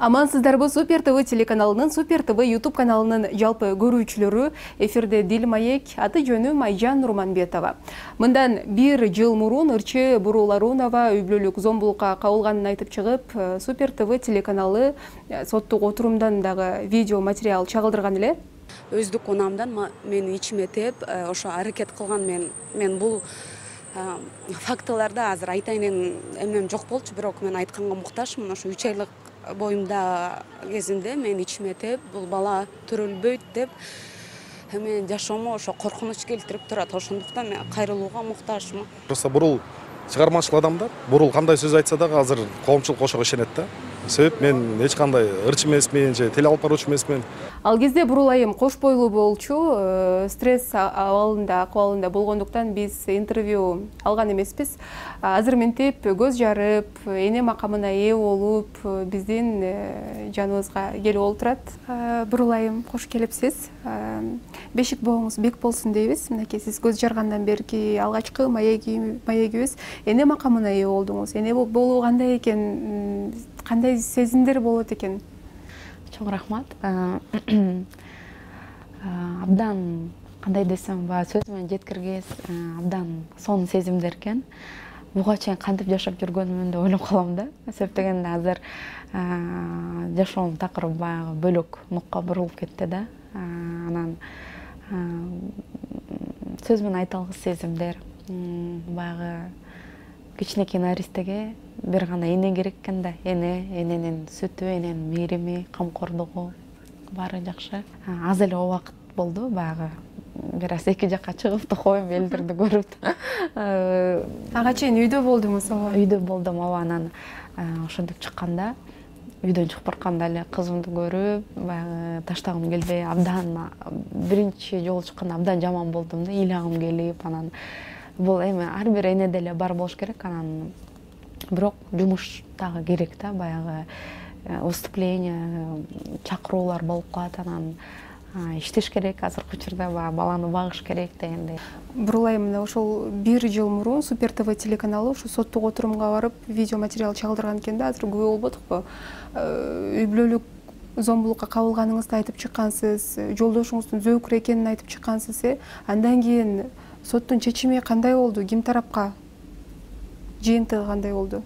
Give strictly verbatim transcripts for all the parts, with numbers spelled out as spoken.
Амансыздарбы. Супер ТВ телеканалынын, Супер ТВ YouTube каналынын жалпы көрүүчүлөрү, эфирде Дил Маек, аты жөнүм Айжан Нурманбетова. Мындан бир жыл мурун ырчы Бурул Арунова үй бүлөлүк зомбулукка кабылганын айтып чыгып, Супер ТВ телеканалы соттук отурумдан дагы видео материал чагылдырган эле. Өздүк унамдан мен ичиме теп, ошо аракет кылган мен мен бул фактыларда азыр айтайын эмем жок болчу, бирок мен айтканга муктажмын. Ошо үч айлык боюмда кезинде мен ичиме теп, бул бала төрөлбөйт деп мен жашоомо ошо коркунуч келтирип турат. Ошондуктан мен кайрылууга муктажмын. Просто Бурул чыгармачыл адамдар. Бурул кандай сөз айтса дагы азыр коомчулук ошого ишенет да. Себеп мен эч кандай ырчы эмесмин, же теле алып баруучу эмесмин. Ал кезде Бурул айым кош бойлуу болчу, стресс абалында, акыбалында болгондуктан биз интервью алган эмеспиз. Азыр мынтип көз жарып, эне макамына ээ болуп, биздин жаныбызга келип олтурат. Бурул айым, кош келипсиз. Бешик бооңуз бек болсун дейбиз. Мынакей сиз көз жаргандан берки алгачкы маегибиз. Эне макамына ээ болдуңуз. Эне болуу кандай экен? Кандай сезимдер болот экен? Чоң рахмат. Абдан кандай десем, баягы сөз менен жеткиргес, абдан сонун сезимдер экен. Буга чейин кантип жашап жүргөнүмдү деп ойлоп калам да. Себеп дегенде азыр жашоонун такырыбы баягы бөлөк нукка бурулуп кетти да. Анан сөз менен айта алгыс сезимдер. Баягы кичинекей наристеге бир гана эне керек экен да. Эне, эненин сүтү, эненин мээрими, камкордугу баары жакшы. Аз эле убакыт болду баягы бир аз эки жакка чыгып токойм, элдерди көрүп. Ага чейин үйдө болдуңуз, ооба. Үйдө болдум, ооба. Анан ошентип чыкканда, үйдөн чыгып барканда эле кызымды көрүп, баягы таштагым келбей, абдан биринчи жолу чыкканда абдан жаман болдум да, ыйлагым келип, анан бул эми ар бир энеде эле бар болуш керек. Анан бирок жумуш дагы керек да, баягы выступление, чакыруулар болуп калат, анан иштеш керек, азыркы учурда баланы багыш керек дегендей. Бурул айым, мына ошол бир жыл мурун Супер ТВ телеканалы ушу соттук отурумга барып видео материал чагылдырган экен да. Азыр күбө болбодукпу? Үй бүлөлүк зомбулукка кабылганыңызды айтып чыккансыз, жолдошуңуздун зөөкүр экенин айтып чыккансыз. Андан кийин соттун чечими кандай болду? Ким тарапка? Жыйынтыгы кандай болду?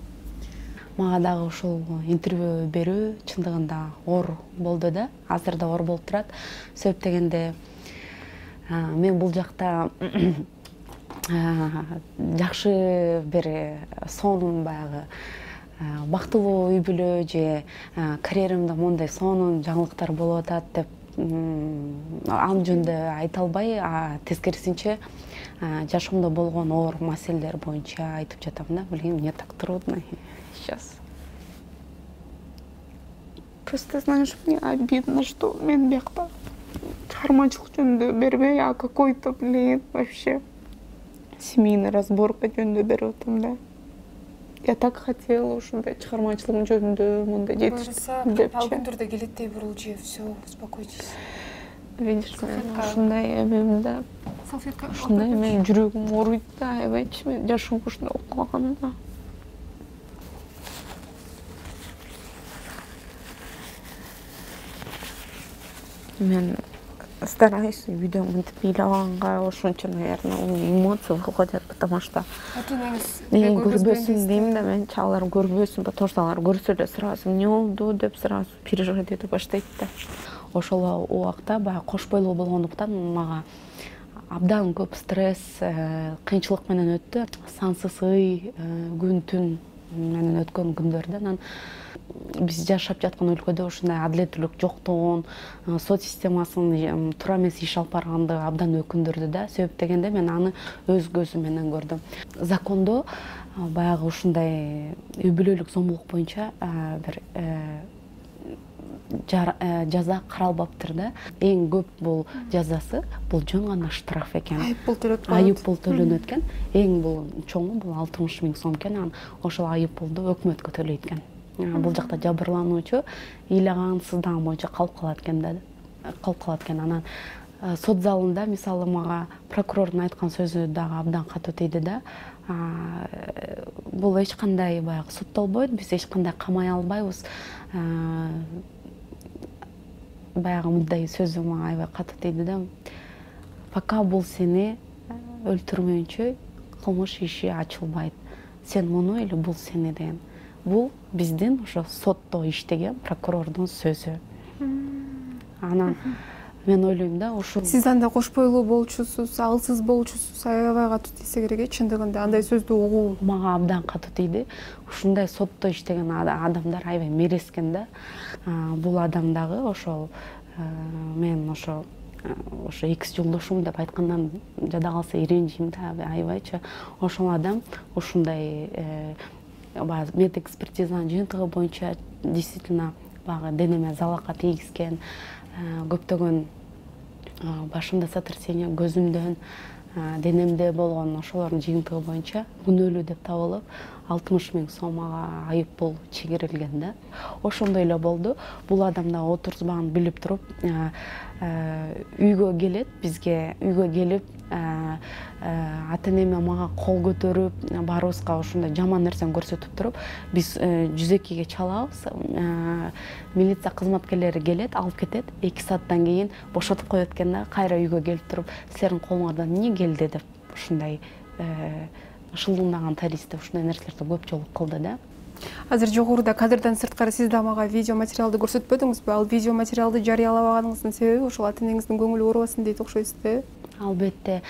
Мага дагы ушул интервью берүү чындыгында оор болду да. Азыр да оор болуп турат. Себеп дегенде мен бул жакта жакшы бир сонун баягы бактылуу үй бүлө же карьерамда мондай сонун жаңылыктар болуп атат деп ал жөнүндө айта албай, тескерисинче жашоомдо болгон оор маселелер боюнча айтып жатам да. Блин, мне так трудно сейчас. Просто, знаешь, мне обидно, что мен биякта чыгармачылык жөнүндө бербей, а какой-то, блин, вообще семейный разборка жөнүндө берип атам да. Я так хотела ушундай чыгармачылык жөнүндө мындай жетиштик депчи. Ал күндөрдө келеттей Бурулжи, все, успокойтесь. Видишь, ушундай эмемде, ушундай менин жүрөгүм ооруйт да, эбейчи мен жашоом ушундай болуп калганда. Мен стараюсь үйдө мынтип ыйлаганга, ошончо, наверное, эмоции выходят, потому что көрбөсүн дейм да, мен чалар көрбөсүн, потому что алар көрсө эле сразу эмне болду деп сразу переживать ете баштайт да. Ошол убакта баягы кош бойлуу болгондуктан мага абдан көп стресс, кыйынчылык менен өттү. Сансыз ый, күн түн менен өткөн күндөрдө анан биз жашап жаткан өлкөдө ушундай адилеттүүлүк жоктугун, сот системасынын туура эмес иш алып баргандыгы абдан өкүндүрдү да. Себеп дегенде мен аны өз көзүм менен көрдүм. Закондо баягы ушундай үй бүлөлүк зомбулук боюнча бир жаза каралбаптыр да. Эң көп бул жазасы бул жөн гана штраф экен. Айып пул төлөп коет. Айып пул төлөнөт экен. Эң бул чоңу бул алтымыш миң сом экен. Анан ошол айып пулду өкмөткө төлөйт экен. Бул жакта жабырлануучу ыйлаган, сыздаган боюнча калып калат экен да. Калып калат экен. Анан сот залында мисалы мага прокурордун айткан сөзү дагы абдан катуу тийди да. Бул эч кандай баягы соттолбойт, биз эч кандай камай албайбыз. Баягы мындай сөзү мага аябай катуу тийди да. Пока бул сени өлтүрмөйүнчө кылмыш иши ачылбайт. Сен муну или бул сени деген. Бул биздин ошо сотто иштеген прокурордун сөзү. Анан мен ойлойм да, ошо сиз анда кош бойлуу болчусуз, акылсыз болчусуз, аябай катуу тийсе керек э, чындыгында андай сөздү угуу. Мага абдан катуу тийди. Ушундай сотто иштеген адамдар аябай мерескен да. Бул адам дагы ошол мен ошо ошо экс жолдошум деп айткандан жада калса иренжим да, аябайчы. Ошол адам ушундай баягы медэкспертизанын жыйынтыгы боюнча действительно баягы денеме залалга тийгизген, көптөгөн башымда сотрясение, көзүмдөн, денемде болгон ошолордун жыйынтыгы боюнча күнөөлүү деп табылып, алтымыш миң сомго айып пул чегирилген да. Ошондой эле болду. Бул адам да отурузбаганын билип туруп, үйгө келет, бизге үйгө келип, ата энеме мага кол көтөрүп, баарыбызга ушундай жаман нерсени көрсөтүп туруп, биз жүз экиге чалабыз. Милиция кызматкерлери келет, алып кетет. эки сааттан кийин бошотуп коет экен да, кайра үйгө келип туруп, силердин колуңардан эмне келди деп ушундай ышылдаган таристе ушундай нерселерди көп жолу кылды да. Азыр жогоруда кадрдан сырткары сиз да мага видео материалды көрсөтпөдүңүзбү? Ал видео материалды жарыялабаганыңыздын себеби ошол ата энеңиздин көңүлү оорубасын дейт окшойсуз да. Албетте,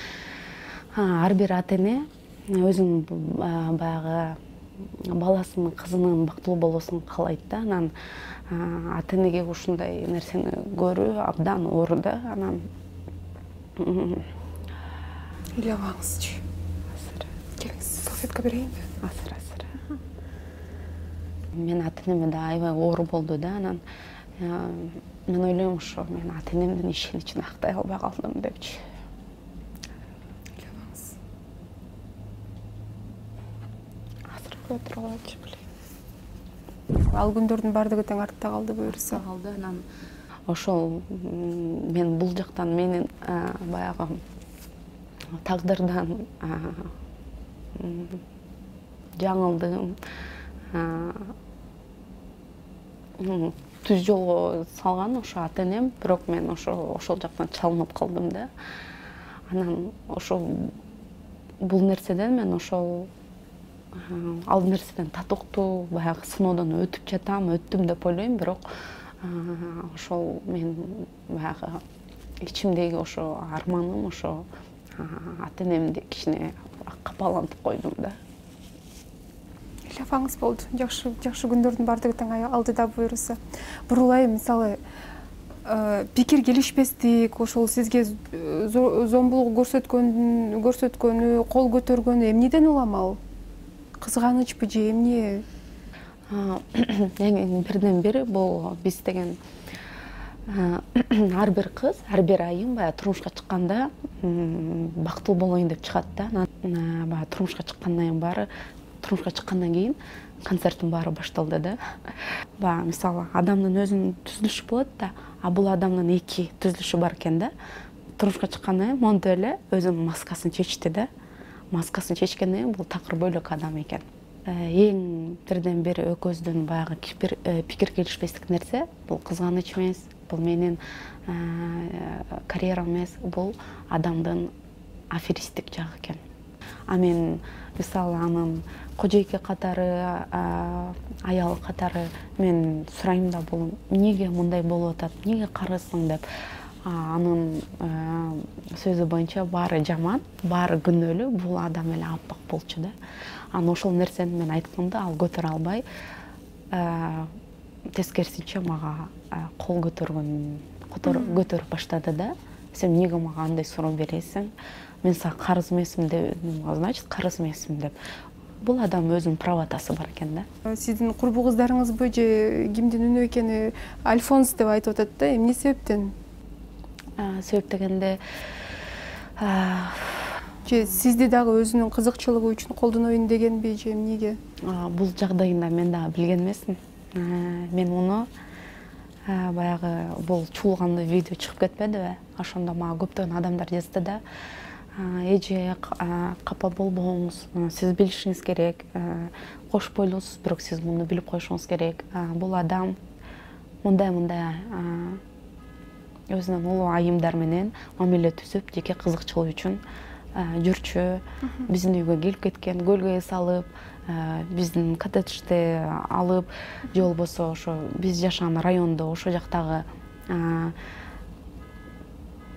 ар бир ата эне өзүнүн баягы баласынын, кызынын бактылуу болуусун каалайт да. Анан ата энеге ушундай нерсени көрүү абдан оор да. Анан ыйлабаңызчы. Келиңиз, салфетка берейинби? Азыр, азыр. Мен ата энеме да аябай оор болду да. Анан мен ойлойм, ошо мен ата энемдин ишеничин актай албай калдым депчи. Ыйлабаңыз. Азыр отуруп алчу билем. Ал күндөрдүн баардыгы тең артта калды буюрса. Калды. Анан ошол мен бул жактан менин баягы тагдырдан жаңылдым, түз жолго салган ошо ата энем, бирок мен ошо ошол жактан чалынып калдым да. Анан ошол бул нерседен мен ошол ал нерседен татыктуу баягы сыноодон өтүп жатам, өттүм деп ойлойм, бирок ошол мен баягы ичимдеги ошо арманым ошо ата энемди кичине капалантып койдум да. Ыйлабаңыз болду. Жакшы, жакшы күндөрдүн баардыгы тең алдыда буюрса. Бурулай, мисалы, пикир келишпестик, ошол сизге зомбулук көрсөткөн, көрсөткөнү, кол көтөргөнү эмнеден улам ал? Кызганычпы же эмне? Эң бирден бири бул биз деген ар бир кыз, ар бир айым баягы турмушка чыкканда бактылуу болоюн деп чыгат да. Баягы турмушка чыккандан кийин баары турмушка чыккандан кийин концерттин баары башталды да. Баягы мисалы адамдын өзүнүн түзүлүшү болот да, а бул адамдын эки түзүлүшү бар экен да. Турмушка чыккандан кийин монтип эле өзүнүн маскасын чечти да. Маскасын чечкенден кийин бул такыр бөлөк адам экен. Эң бирден бири экөөбүздүн баягы пикир келишпестик нерсе бул кызганыч эмес, бул менин карьерам эмес, бул адамдын аферисттик жагы экен. А мен мисалы анын кожойке катары, аялы катары мен сурайм да, бул эмнеге мындай болуп атат, эмнеге карысың деп. Анын сөзү боюнча баары жаман, баары күнөөлүү, бул адам эле аппак болчу да. Анан ошол нерсени мен айтканда ал көтөрө албай, тескерисинче мага кол көтөргөн, көтөрүп баштады да. Сен эмнеге мага андай суроо бересиң? Мен сага карыз эмесмин деп, значит, карыз эмесмин деп. Бул адам өзүнүн правотасы бар экен да. Сиздин курбу кыздарыңызбы же кимдин үнү экени Альфонс деп айтып атат да. Эмне себептен? Себеп дегенде же сизди дагы өзүнүн кызыкчылыгы үчүн колдоноюн дегенби же эмнеге? Бул жагдайында мен дагы билген эмесмин. Мен муну баягы бул чуулгандуу видео чыгып кетпедиби? Ошондо мага көптөгөн адамдар жазды да. Эже, капа болбоңуз, сиз билишиңиз керек, кош бойлуусуз, бирок сиз муну билип коюшуңуз керек. Бул адам мындай-мындай өзүнүн улуу айымдар менен мамиле түзүп, жеке кызыкчылык үчүн жүрчү, биздин үйгө келип кеткен, көлгө эс алып, биздин коттеджди алып, же болбосо ошо биз жашаган райондо ошо жактагы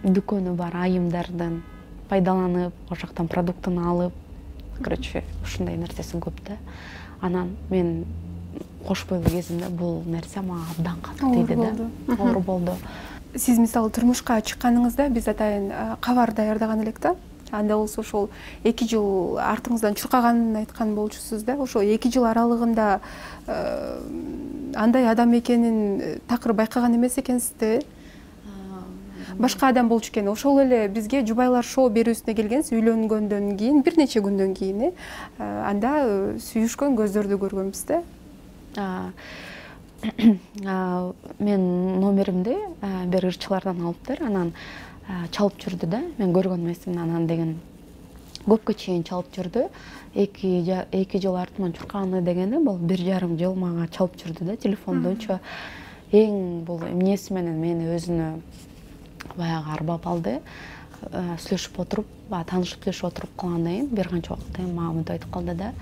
дүкөнү бар айымдардын пайдаланып, ошол жактан продуктун алып, короче, ушундай нерсеси көп да. Анан мен кош бойлуу кезимде бул нерсе мага абдан катуу тийди да. Оор болду. Сиз мисалы турмушка чыкканыңызда биз атайын кабар даярдаган элек да. Анда болсо ошол эки жыл артыңыздан чуркаганын айткан болчусуз да. Ошол эки жыл аралыгында андай адам экенин такыр байкаган эмес экенсизди. Башка адам болчу экен. Ошол эле бизге Жубайлар шоу берүүсүнө келгенсиз, үйлөнгөндөн кийин, бир нече күндөн кийин, анда сүйүшкөн көздөрдү көргөнбүз да. Мен номеримди бир ырчылардан алыптыр, анан чалып жүрдү да. Мен көргөн эмесмин, анан деген көпкө чейин чалып жүрдү. эки жыл артыман чуркаганы дегени бул бир жарым жыл мага чалып жүрдү да, телефондончу. Эң бул эмнеси менен мени өзүнө баягы арбап алды. Сүйлөшүп отуруп, таанышып сүйлөшүп отуруп калгандан кийин бир канча убакыттан кийин мага мынтип айтып калды да.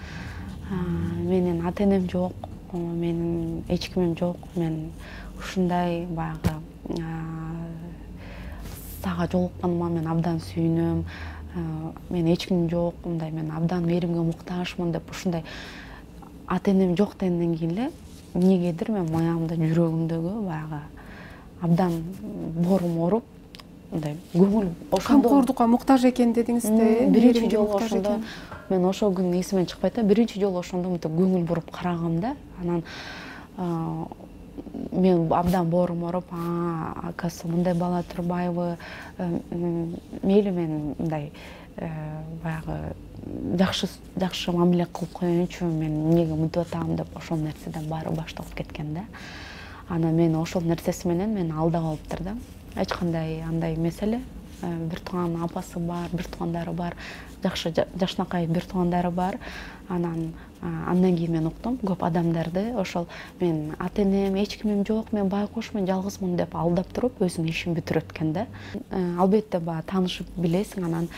Менин ата-энем жок, менин эч кимим жок. Мен ушундай баягы сага жолукканыма мен абдан сүйүнөм. Мен эч кимим жок, мындай мен абдан мээримге муктажмын деп ушундай ата-энем жок дегенден кийин эле эмнегедир мен маямда, жүрөгүмдөгү баягы абдан боорум ооруп, мындай көңүл ошондо камкордукка муктаж экен дедиңиз да. Биринчи жолу ошондо мен ошол күн эсимден чыкпайт да. Биринчи жолу ошондо мынтип көңүл буруп карагам да. Анан мен абдан боорум ооруп, акасы мындай бала турбайбы, мейли мен мындай баягы жакшы жакшы мамиле кылып коеюнчу, мен эмнеге мынтип атам деп ошол нерседен баары башталып кеткен да. Анан мен ошол нерсеси менен мени алдап алыптыр да. Эч кандай андай эмес эле. Бир тууган апасы бар, бир туугандары бар, жакшы жашынакай бир туугандары бар. Анан андан кийин мен уктум, көп адамдарды ошол мен ата-энем, эч кимим жок, мен байкош, мен жалгызмын деп алдап туруп өзүнүн ишин бүтүрөт экен да. Албетте баягы таанышып билесиң, анан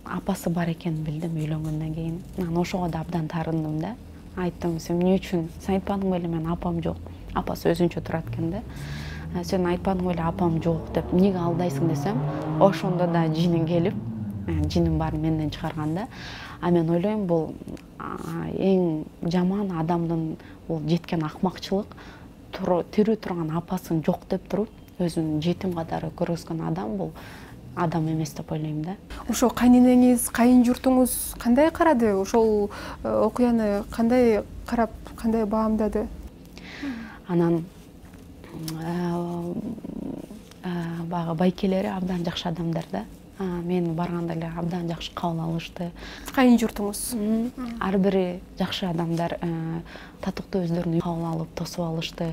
апасы бар экенин билдим үйлөнгөндөн кийин. Анан ошого да абдан таарындым да. Айттым, сен эмне үчүн, сен айтпадың беле мен апам жок. Апасы өзүнчө турат экен да. Сен айтпадың беле апам жок деп, эмнеге алдайсың десем, ошондо да жинин келип, жинин баарын менден чыгарган да. А мен ойлойм, бул эң жаман адамдын бул жеткен акмакчылык, тирүү турган апасын жок деп туруп, өзүн жетим катары көргөзгөн адам бул адам эмес деп ойлойм да. Ошо кайненеңиз, кайын журтуңуз кандай карады? Ошол окуяны кандай карап, кандай баамдады? Анан баягы байкелери абдан жакшы адамдар да. Мен барганда эле абдан жакшы кабыл алышты. Кайын журтуңуз? Ар бири жакшы адамдар, татыктуу өздөрүн кабыл алып, тосуп алышты.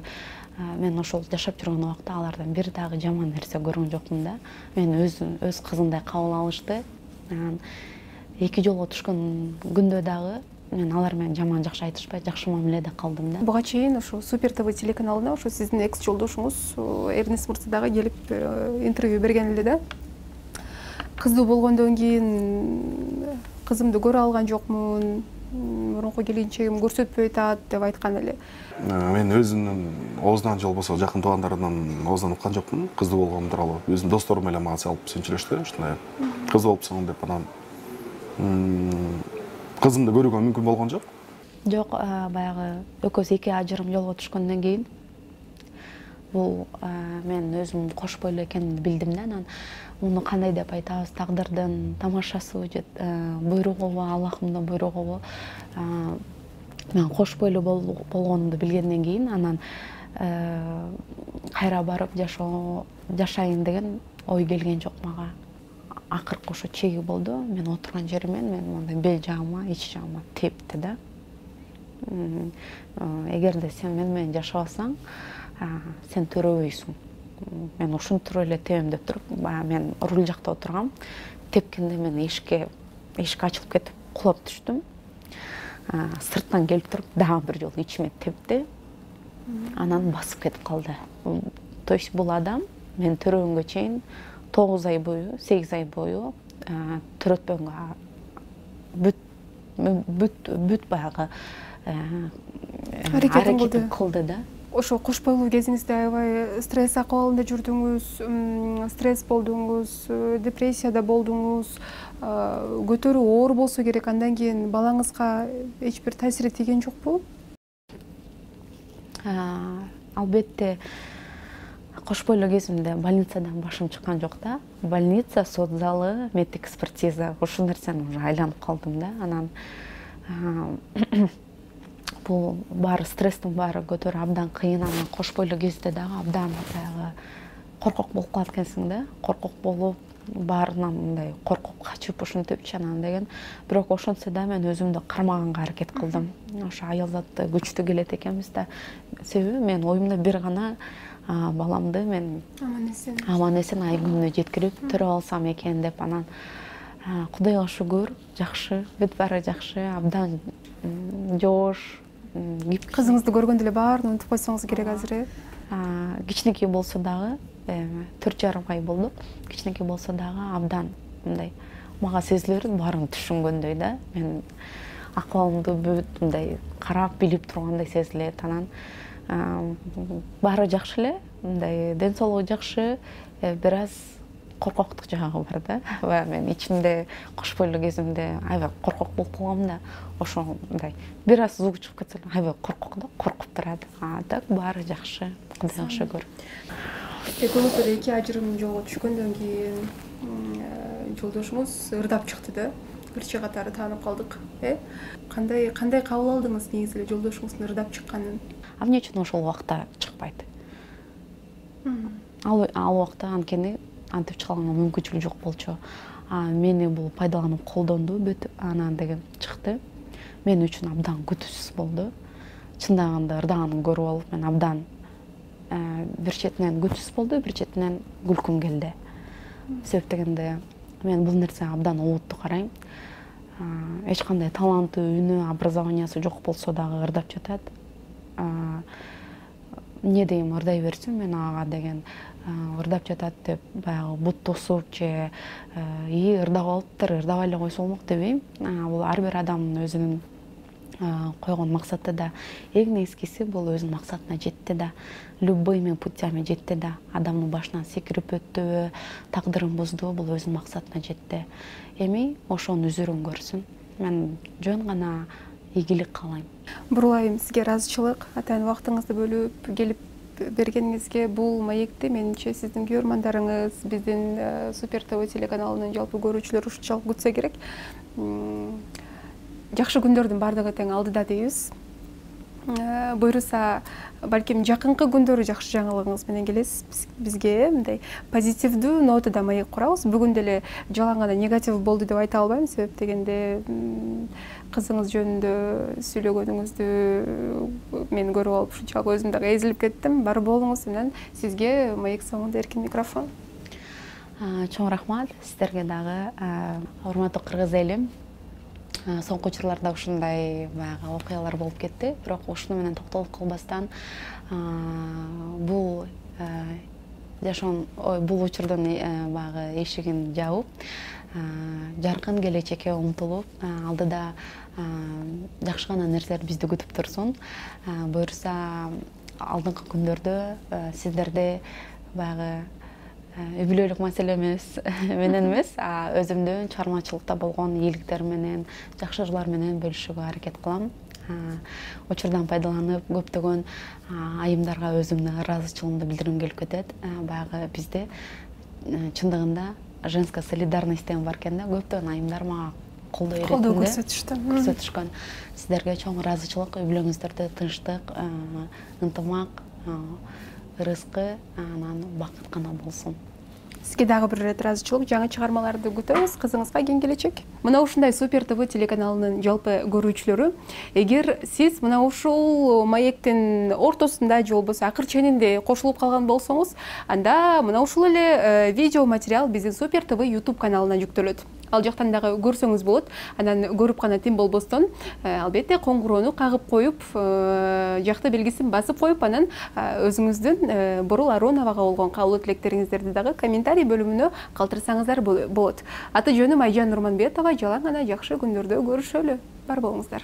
Мен ошол жашап жүргөн убакта алардан бир дагы жаман нерсе көргөн жокмун да. Мен өз өз кызындай кабыл алышты. Анан эки жолго түшкөн күндө дагы мен алар менен жаман жакшы айтышпай, жакшы мамиледе калдым да. Буга чейин ошо Супер ТВ телеканалына ошо сиздин экс жолдошуңуз Эрнест Мырза дагы келип интервью берген эле да. Кыздуу болгондон кийин кызымды көрө алган жокмун, мурунку келинчегим көрсөтпөй атат деп айткан эле. Мен өзүмдүн оозунан же болбосо жакын туугандарымдын оозунан уккан жокмун. Кыздуу болгону тууралуу өзүмдүн досторум эле мага салып сүйлөштү, ушундай кыз болупсуң деп. Анан кызымды көрүүгө мүмкүн болгон жок. Жок, баягы экөөбүз эки ажырым жолго түшкөндөн кийин бул мен өзүм кош бойлуу экенимди билдим да. Анан муну кандай деп айтабыз, тагдырдын тамашасы же буйругубу, Аллахымдын буйругубу. Мен кош бойлуу болгонумду билгенден кийин анан кайра барып жашоо жашайын деген ой келген жок мага. Акыркы ошо чеги болду. Мен отурган жеримен мен мындай бел жагыма, ич жагыма тепти да. эгерде сен мени менен жашабасаң, сен төрөбөйсүң. Мен ушинтип эле тебем деп туруп, баягы мен руль жакта отургам. Тепкенде мен эшикке эшик ачылып кетип кулап түштүм. Сырттан келип туруп дагы бир жолу ичиме тепти. Анан басып кетип калды. То есть бул адам мен төрөгөнгө чейин тогуз ай бою, сегиз ай бою төрөтпөгөнгө бүт бүт бүт баягы аракетин кылды да. Ошо кош бойлуу кезиңизде аябай стресс акыбалында жүрдүңүз, стресс болдуңуз, депрессияда болдуңуз, көтөрүү оор болсо керек. Андан кийин балаңызга эч бир таасири тийген жокпу? Албетте, кош бойлуу кезимде больницадан башым чыккан жок да. Больница, сот залы, медэкспертиза, ушул нерсени уже айланып калдым да. Анан бул баары стресстин баары көтөрүп абдан кыйын. Анан кош бойлуу кезде дагы абдан баягы коркок болуп калат экенсиң да. Коркок болуп, баарынан мындай коркуп качып ушинтипчи анан деген. Бирок ошентсе да мен өзүмдү кармаганга аракет кылдым. Ошо аялзатты күчтүү келет экенбиз да. Себеби мен оюмда бир гана баламды мен аман эсен ай күнүнө жеткирип төрөп алсам экен деп. Анан Кудайга шүгүр, жакшы, бүт баары жакшы, абдан жоош. Кызыңызды көргөндө эле баарын унутуп койсоңуз керек азыр. Кичинекей болсо дагы, төрт жарым ай болду. Кичинекей болсо дагы абдан мындай мага сезиле берет, баарын түшүнгөндөй да. Мен акыбалымды бүт мындай карап билип тургандай сезилет. Анан баары жакшы эле, мындай ден соолугу жакшы, бир аз коркоктук жагы бар да. Баягы мен ичимде кош бойлуу кезимде аябай коркок болуп калгам да. Ошо мындай бир аз звук чыгып кетсе аябай коркок да, коркуп турат. А так баары жакшы, Кудайга шүгүр. Экөөңүз эле эки ажырым жолго түшкөндөн кийин жолдошуңуз ырдап чыкты да. Ырчы катары таанып калдык. Э? Кандай кандай кабыл алдыңыз негизи эле жолдошуңуздун ырдап чыкканын? А эмне үчүн ошол убакта чыкпайт? Ал ал убакта анткени антип чыганга мүмкүнчүлүк жок болчу. Мени бул пайдаланып колдонду бүт, анан деген чыкты. Мен үчүн абдан күтүүсүз болду. Чындагында ырдаганын көрүп алып, мен абдан бир четинен күтүүсүз болду, бир четинен күлкүм келди. Себеп дегенде мен бул нерсеге абдан олуттуу карайм. Эч кандай таланты, үнү, образованиясы жок болсо дагы ырдап жатат. Эмне дейм, ырдай берсин мен ага деген, ырдап жатат деп баягы бут тосуп же и ырдап алыптыр, ырдабай эле койсо болмок дебейм. Бул ар бир адамдын өзүнүн койгон максаты да, эң негизгиси бул өзүнүн максатына жетти да, любыйми путями жетти да, адамдын башынан секирип өттүбү, тагдырын бузду, бул өзүнүн максатына жетти. Эми ошонун үзүрүн көрсүн. Мен жөн гана ийгилик каалайм. Бурулайым сизге ыраазычылык, атайын убактыңызды бөлүп келип бергениңизге. Бул маекти менимче сиздин көрөрмандарыңыз, биздин Супер ТВ телеканалынын жалпы көрүүчүлөрү ушунчалык күтсө керек. Жакшы күндөрдүн баардыгы тең алдыда дейбиз. Буйруса, балким жакынкы күндөрү жакшы жаңылыгыңыз менен келесиз бизге. Мындай позитивдүү нотада маек курабыз. Бүгүн деле жалаң гана негатив болду деп айта албайм, себеп дегенде кызыңыз жөнүндө сүйлөгөнүңүздү мен көрүп алып ушунчалык өзүм дагы эзилип кеттим. Бар болуңуз менен сизге маек соңунда эркин микрофон. Чоң рахмат сиздерге дагы. Урматтуу кыргыз элим. Соңку учурларда ушундай баягы окуялар болуп кетти, бирок ушуну менен токтолуп калбастан бул жашоон бул учурдун баягы эшигин жаап, жаркын келечекке умтулуп, алдыда жакшы гана нерселер бизди күтүп турсун. Буюрса, алдыңкы күндөрдө сиздерде баягы үй бүлөлүк маселе эмес менен эмес, өзүмдүн чыгармачылыкта болгон ийгиликтер менен, жакшылыклар менен бөлүшүүгө аракет кылам. Учурдан пайдаланып, көптөгөн айымдарга өзүмдүн ыраазычылыгымды билдиргим келип кетет. Баягы бизде чындыгында женская солидарность деген бар экен да, көптөгөн айымдар мага колдоо берет. Колдоо көрсөтүштү. Көрсөтүшкөн. Сиздерге чоң ыраазычылык, үй бүлөңүздөрдө тынчтык, ынтымак, ырыскы, анан бакыт гана болсун. Сизге дагы бир ирет ыраазычылык, жаңы чыгармаларды күтөбүз. Кызыңызга кийин келечек. Мына ушундай Супер ТВ телеканалынын жалпы көрүүчүлөрү, эгер сиз мына ушул маектин ортосунда же болбосо акыр ченинде кошулуп калган болсоңуз, анда мына ушул эле видео материал биздин Супер ТВ YouTube каналына жүктөлөт. Ал жактан дагы көрсөңүз болот. Анан көрүп гана тим болбостон, албетте коңгуроону кагып коюп, жакты белгисин басып коюп, анан өзүңүздүн Борул Ароновага болгон каалоо тилектериңиздерди дагы комментарий бөлүмүнө калтырсаңыздар болот. Аты жөнүм Айжан Нурманбетова. Жалаң гана жакшы күндөрдө көрүшөлү. Бар болуңуздар.